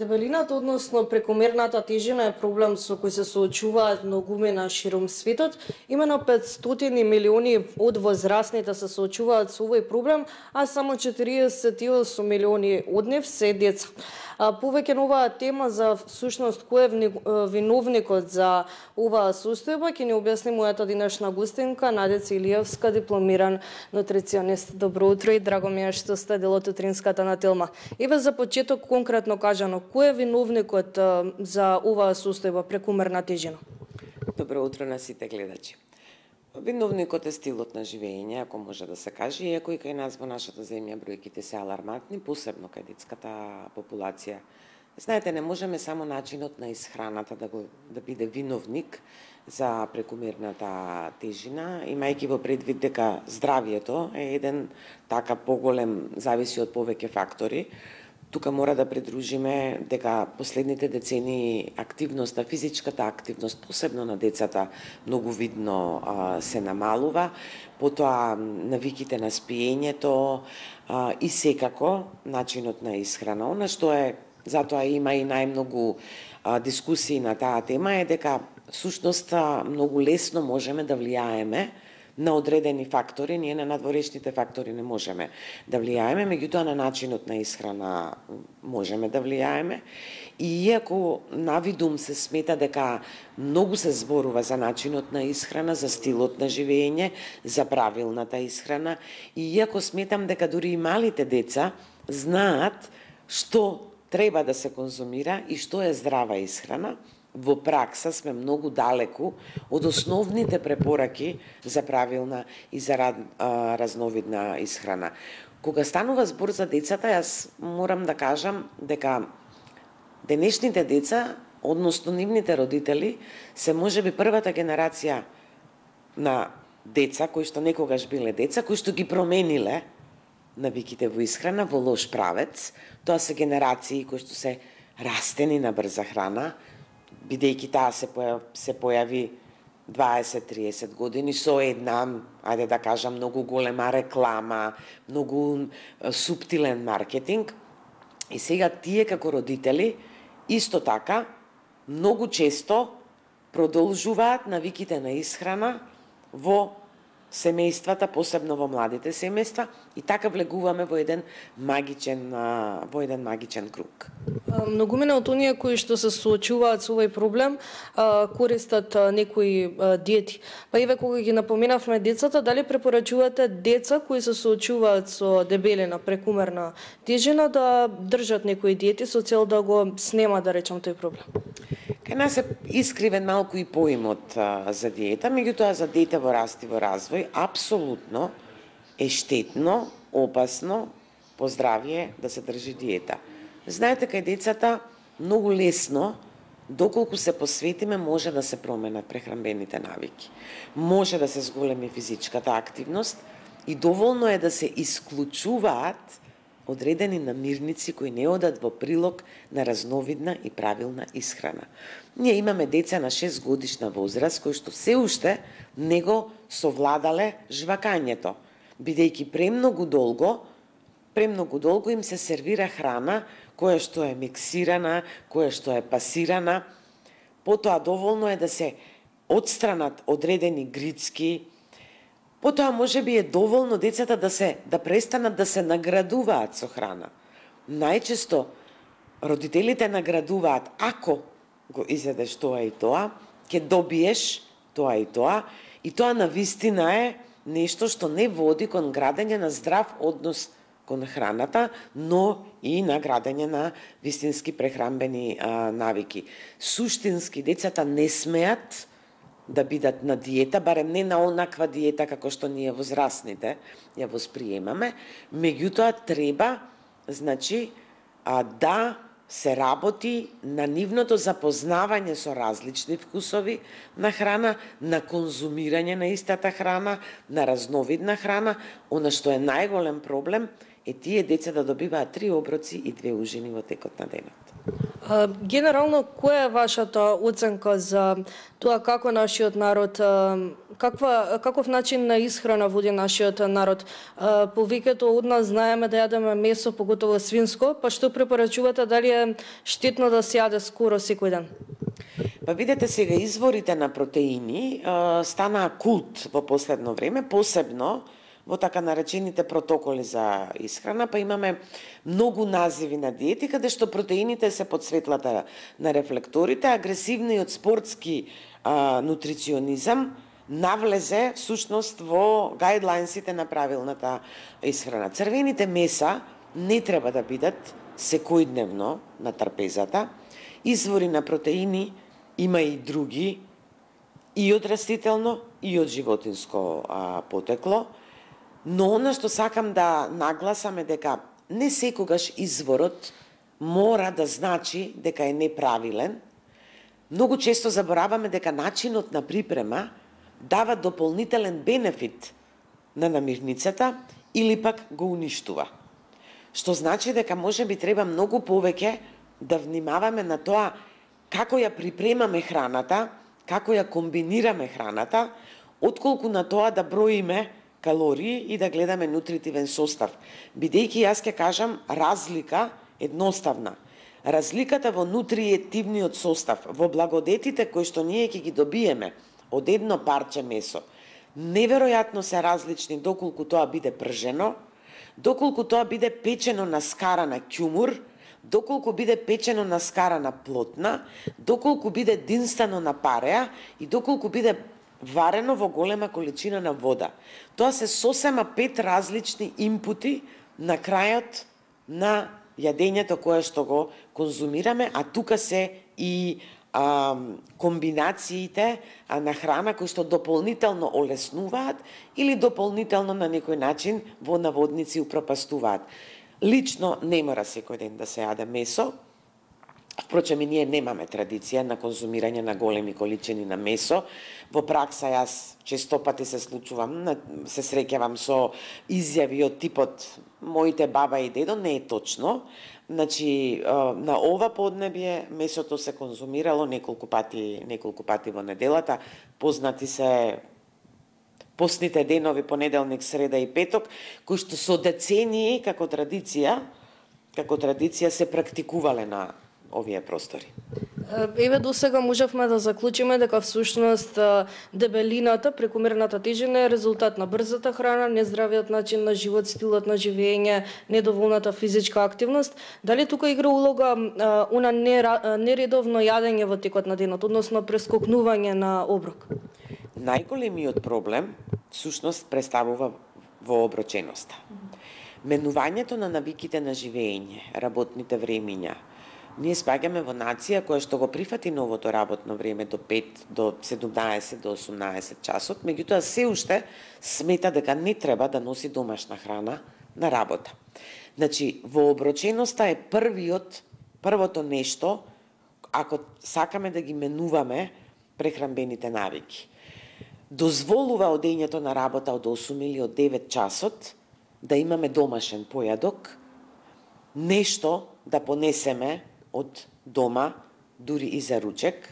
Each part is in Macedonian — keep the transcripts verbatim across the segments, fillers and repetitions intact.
Дебелината, односно прекомерната тежина е проблем со кој се соочуваат многумина широм светот. Имено петстотини милиони од возрастните се соочуваат со овој проблем, а само четириесет и осум милиони од нив се деца. А повеќе на оваа тема за всушност кој е виновникот за оваа состојба ќе ни објасни мојата денешна гостинка Надеца Илиевска, дипломиран нутриционист. Добро утро и драго ми е што сте дел од утринската на Телма. Еве за почеток конкретно кажано, кој е виновникот за оваа состојба прекумерна тежина? Добро утро на сите гледачи. Виновникот е стилот на живење, ако може да се каже, иако и кај нас во нашата земја бројките се алармантни, посебно кај детската популација. Знаете, не можеме само начинот на исхраната да го да биде виновник за прекумерната тежина, имајќи во предвид дека здравието е еден така поголем, зависи од повеќе фактори. Тука мора да придружиме дека последните децении активноста, физичката активност, посебно на децата, многу видно а, се намалува, потоа навиките на спиењето а, и секако начинот на исхрана. Она што е, затоа има и најмногу а, дискусии на таа тема е дека всушност многу лесно можеме да влијаеме на одредени фактори, ние на надворешните фактори не можеме да влијаеме, меѓутоа на начинот на исхрана можеме да влијаеме. И иако навидум се смета дека многу се зборува за начинот на исхрана, за стилот на живење, за правилната исхрана, и иако сметам дека дури и малите деца знаат што треба да се конзумира и што е здрава исхрана, во пракса сме многу далеку од основните препораки за правилна и за разновидна исхрана. Кога станува збор за децата, јас морам да кажам дека денешните деца, односно нивните родители, се можеби првата генерација на деца кои што некогаш биле деца, кои што ги промениле навиките во исхрана во лош правец. Тоа се генерации кои што се растени на брза храна, бидејќи таа се појави, се појави дваесет до триесет години со една, ајде да кажам, многу голема реклама, многу суптилен маркетинг. И сега тие како родители исто така многу често продолжуваат навиките на исхрана во семејствата, посебно во младите семејства, и така влегуваме во еден магичен во еден магичен круг. Многумина од оние кои што се соочуваат со овој проблем користат некои диети. Па еве кога ги напоменавме децата, дали препорачувате деца кои се соочуваат со дебелина, прекумерна тежина да држат некои диети со цел да го снема, да речем, тој проблем? Кај нас е искривен малку и поимот а, за диета, меѓутоа за дете во раст и во развој апсолутно е штетно, опасно по здравје да се држи диета. Знаете, кај децата многу лесно, доколку се посветиме, може да се променат прехранбените навики. Може да се зголеми физичката активност и доволно е да се исклучуваат одредени намирници кои не одат во прилог на разновидна и правилна исхрана. Ние имаме деца на шест годишна возраст кои што се уште не го совладале жвакањето, бидејќи премногу долго, премногу долго им се сервира храна која што е миксирана, која што е пасирана. Потоа доволно е да се отстранат одредени грицки. Потоа можеби е доволно децата да се да престанат да се наградуваат со храна. Најчесто родителите наградуваат: ако го изедеш тоа и тоа, ќе добиеш тоа и тоа, и тоа навистина е нешто што не води кон градење на здрав однос кон храната, но и на градење на вистински прехранбени а, навики. Суштински децата не смеат да бидат на диета, барем не на онаква диета како што ние возрастните ја восприемаме, меѓутоа треба, значи, а, да се работи на нивното запознавање со различни вкусови на храна, на конзумирање на истата храна, на разновидна храна. Она што е најголем проблем е тие деца да добиваат три оброци и две ужини во текот на денот. А, Генерално, која е вашата оценка за тоа како нашиот народ, а, каква, каков начин на исхрана води нашиот народ? А, Повеќето од нас знаеме да јадеме месо, поготово свинско, па што препорачувате, дали е штетно да се јаде скоро секој ден? Па видете сега, изворите на протеини а, станаа култ во последно време, посебно во така наречените протоколи за исхрана, па имаме многу називи на диети каде што протеините се под светлата на рефлекторите, агресивниот спортски а, нутриционизам навлезе всушност во гајдлайнсите на правилната исхрана. Црвените меса не треба да бидат секојдневно на трпезата. Извори на протеини има и други, и од растително, и од животинско а, потекло. Но она што сакам да нагласам е дека не секогаш изворот мора да значи дека е неправилен. Многу често забораваме дека начинот на припрема дава дополнителен бенефит на намирницата или пак го уништува. Што значи дека може би треба многу повеќе да внимаваме на тоа како ја припремаме храната, како ја комбинираме храната, отколку на тоа да броиме калории и да гледаме нутритивен состав. Бидејќи јас ќе кажам разлика едноставна. Разликата во нутриетивниот состав, во благодетите кои што ние ќе ги добиеме од едно парче месо, неверојатно се различни доколку тоа биде пржено, доколку тоа биде печено на скара на ќумур, доколку биде печено на скара на плотна, доколку биде динстано на пареа и доколку биде варено во голема количина на вода. Тоа се сосема пет различни инпути на крајот на јадењето кое што го конзумираме, а тука се и а, комбинациите а, на храна кои што дополнително олеснуваат или дополнително на некој начин во наводници упропастуваат. Лично не мора секој ден да се јаде месо. Впрочем, и ние немаме традиција на конзумирање на големи количини на месо. Во пракса јас често пати се случувам, се среќавам со изјави од типот моите баба и дедо, не е точно. Значи, на ова поднебје месото се конзумирало неколку пати, неколку пати во неделата. Познати се постните денови, понеделник, среда и петок, кои што со децении како традиција, како традиција се практикувале на овие простори. Еве до сега можевме да заклучиме дека всушност дебелината, прекумерната тежина е резултат на брзата храна, нездравиот начин на живот, стилот на живење, недоволната физичка активност. Дали тука игра улога она нередовно јадење во текот на денот, односно прескокнување на оброк? Најголемиот проблем всушност представува вооброченоста. Менувањето на навиките на живење, работните времиња. Ние спаѓаме во нација која што го прифати новото работно време до пет, до седумнаесет, до осумнаесет часот, меѓутоа се уште смета дека не треба да носи домашна храна на работа. Значи, вооброченоста е првиот, првото нешто, ако сакаме да ги менуваме прехранбените навики. Дозволува одењето на работа од осум или од девет часот, да имаме домашен појадок, нешто да понесеме од дома, дури и за ручек,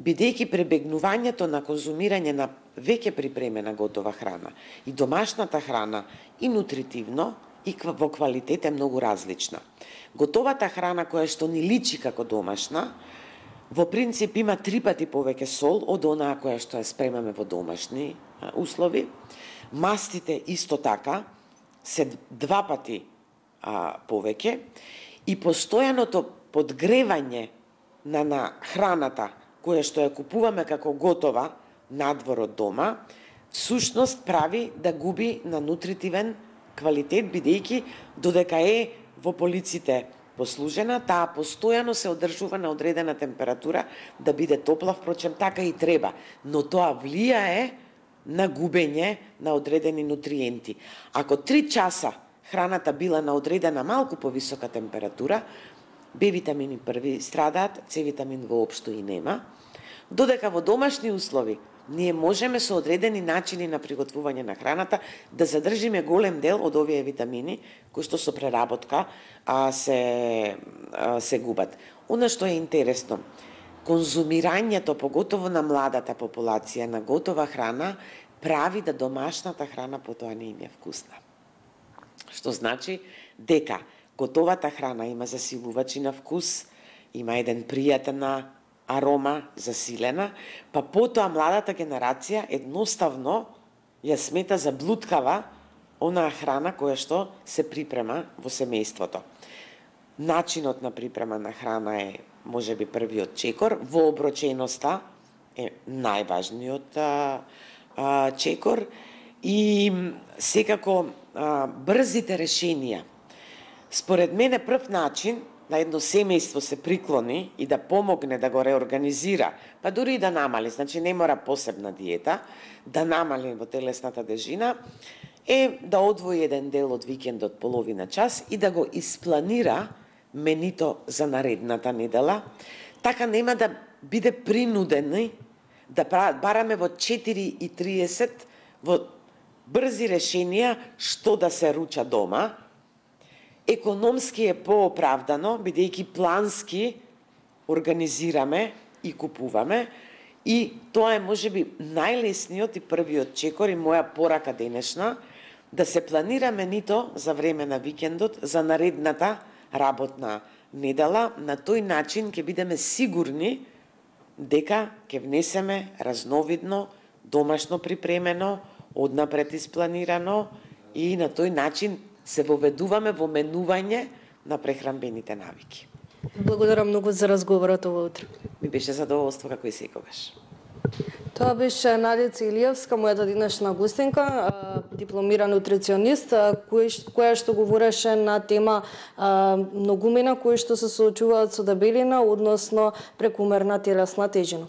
бидејќи пребегнувањето на конзумирање на веќе припремена готова храна и домашната храна и нутритивно и во квалитет е многу различна. Готовата храна која што ни личи како домашна, во принцип има три пати повеќе сол од онаа која што ја спремаме во домашни услови. Мастите исто така се два пати а, повеќе и постојаното подгревање на, на храната која што ја купуваме како готова надвор од дома, всушност прави да губи на нутритивен квалитет, бидејќи додека е во полиците послужена, таа постојано се одржува на одредена температура да биде топла, впрочем така и треба, но тоа влијае на губење на одредени нутриенти. Ако три часа храната била на одредена малку повисока температура, Б витамини први страдаат, С витамин воопшто и нема, додека во домашни услови ние можеме со одредени начини на приготвување на храната да задржиме голем дел од овие витамини кои што со преработка а, се, а, се губат. Она што е интересно, конзумирањето, поготово на младата популација, на готова храна, прави да домашната храна потоа не им е вкусна. Што значи дека готовата храна има засилувачи на вкус, има еден пријатна арома, засилена, па потоа младата генерација едноставно ја смета за блуткава онаа храна која што се припрема во семејството. Начинот на припрема на храна е можеби првиот чекор, вооброченоста е најважниот а, а, чекор и секако а, брзите решенија. Според мене прв начин на едно семејство се приклони и да помогне да го реорганизира, па дури и да намали, значи не мора посебна диета, да намали во телесната тежина, е да одвои еден дел од викендот, половина час, и да го испланира менито за наредната недела, така нема да биде принудени да бараме во четири и триесет во брзи решенија што да се руча дома. Економски е пооправдано, бидејќи плански организираме и купуваме, и тоа е можеби најлесниот и првиот чекор и моја порака денешна, да се планира менито за време на викендот, за наредната работна недела. На тој начин ќе бидеме сигурни дека ќе внесеме разновидно, домашно припремено, однапред испланирано, и на тој начин се воведуваме во менување на прехранбените навики. Благодарам многу за разговорот ова утро. Ми беше задоволство како и секогаш. Тоа беше Надица Илиевска, мојата денешна гостинка, дипломиран нутриционист, која што говореше на тема многумина кои што се соочуваат со дебелина, односно прекумерна телесна тежина.